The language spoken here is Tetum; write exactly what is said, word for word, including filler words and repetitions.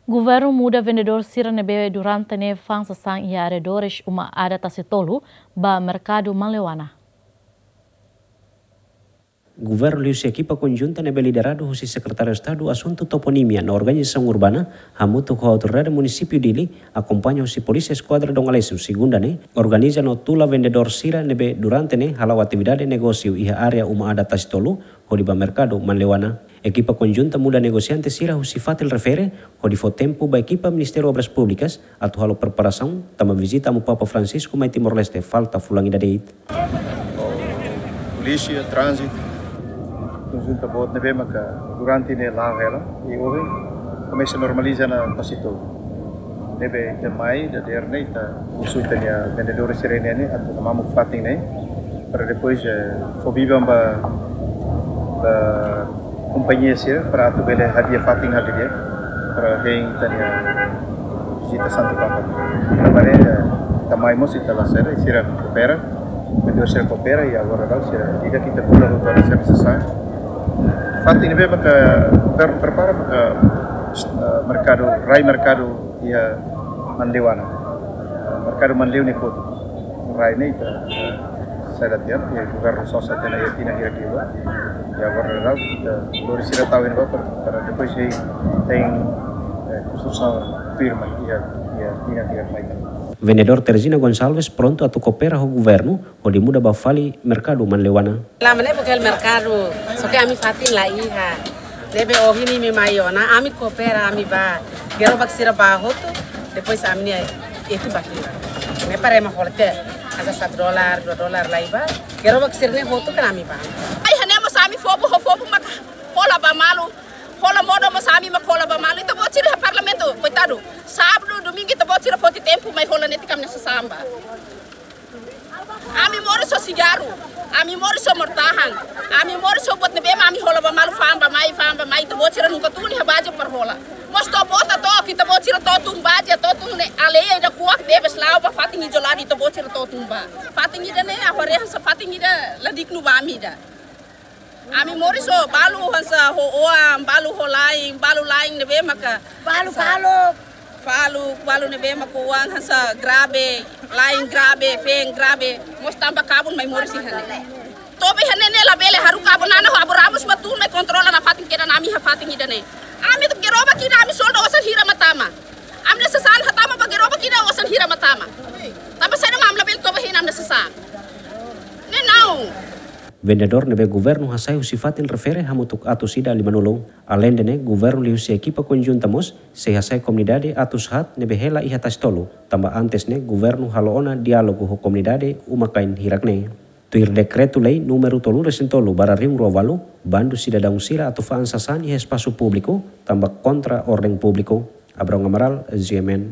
Governu muda vendedór sira ne'ebé durante ne'e fa'an sasán iha arredores uma adat Tasitolu ba merkadu Manleuana. Governu liuhusi ekipa konjunta ne'ebé lideradu husi Sekretáriu Estadu Asuntu Toponímia no Organizasaun Urbana, hamutuk ho Autoridade Munisípiu Dili, akompaña husi Polísia Eskuadra Dom Aleixo, segunda ne'e, organiza no tula vendedór sira ne'ebé durante ne'e hala'o atividade negósiu iha área uma adat Tasitolu, hodi ba merkadu Manleuana. Ekipa konjunta muda negosiante sira husi fatin refere, hodi fó tempu ba ekipa Ministériu Obras Públikas atu halo preparasaun, tanba vizita Amu Papa Francisco mai Timor-Leste falta fulan ida de'it. Polísia, tránzitu, konjunta boot ne'ebé maka durante ne'e la'o hela, i ohin komesa normaliza ona Tasitolu. Ne'ebé ita mai dadeer ne'e ita husu ita-nia vendedór sira ne'e atu mamuk fatin ne'e, para depois, eh, fó biban ba, ba kompañia sira para atu bele hadi'a fatin hadi'a para hein ita-nia vizita Santu Papa. Tanba ne'e, eh, ita mai mós ita la sera, sira koopera, vendedór sira koopera, i agora daudaun sira ida ita tula hotu sira sasán. Fatin ne'ebé maka per-, prepara maka, eh, merkadu, rai merkadu iha Manleuana. Eh, merkadu Manleu ne'e kotuk. Rai ne'e ita, eh, sai da tiar, i governu sosa tiha ona iha tinan hirak liubá. I agora daudaun ita lori sira tau iha ne'ebá para, para depois hein, hein, eh, konstrusaun firma iha, iha tinan hirak mai. Vendedór Teresina Gonçalves prontu atu koopera ho governu, hodi muda ba fali merkadu Manleuana. La'ós ne'e buka merkadu, só ke ami fatin la iha. Ne'ebé ohin ne'e mai ona, ami koopera, ami ba. Gerobak sira ba hotu, depois ami-nia etu ba tiha. Ne'e para ema hola tiha, hanesan satu dolar, dua dolar lai ba. Gerobak sira ne'e hotu kan ami ba. Ai, hanesan ami fobo, ho fobo maka hola ba malu. Hola modo mós ami maka hola ba malu. Ita-boot sira iha parlamentu, koitadu. Sábadu, domingu, ita-boot sira foti tempu mai hola netik ami-nia sasán ba. Ami moris ho sigarru, ami moris ho mortahan, ami moris ho buat ne'ebé mak ami hola ba malu, fa'an ba mai, fa'an ba mai, ita-boot sira nunka tun iha baze para hola. Mós to'o bota to'o, ita-boot sira to'o tun baze, to'o tun ne'e, alheia ida kuak tebes la'o ba fatin isoladu, ita-boot sira to'o tun ba. Fatin ida-ne'e, agora hanesan fatin ida la dignu ba ami ida. Ami moris ho balu hanesan ho oan, balu ho la'en, balu la'en ne'ebé maka balu, balu. Faluk, balu ne'ebé maka oan hanesan grave, la'en grave, feen grave, mós tanba kabun mai moris iha ne'e. To'o be iha ne'e ne'e labele haruka abonana ho Abu Ramos mak tun mai kontrola nafatin kedan ami iha fatin ida-ne'e. Ami atu gerobak ida ami solda osan hira mak tama. Ami-nia sasán hatama ba gerobak ida osan hira mak tama. Tanba saida mak ami labele toba hein ami-nia sasán. Ne'e naun. Vendedór ne'ebé governu hasai husi fatin refere hamutuk atus ida limanulu. Aleinde ne'e, governu liuhusi ekipa konjunta mós sei hasai komunidade atus haat ne'ebé hela iha Tasitolu, tanba antes ne'e governu halo ona diálogu ho komunidade uma-kain hirak ne'e. Tuir dekretu-lei númeru tolu resin tolu barra rihun rua ualu, bandu sidadaun sira atu fa'an sasán iha espasu públiku, tanba kontra orden públiku. Abrão Amaral, G M N.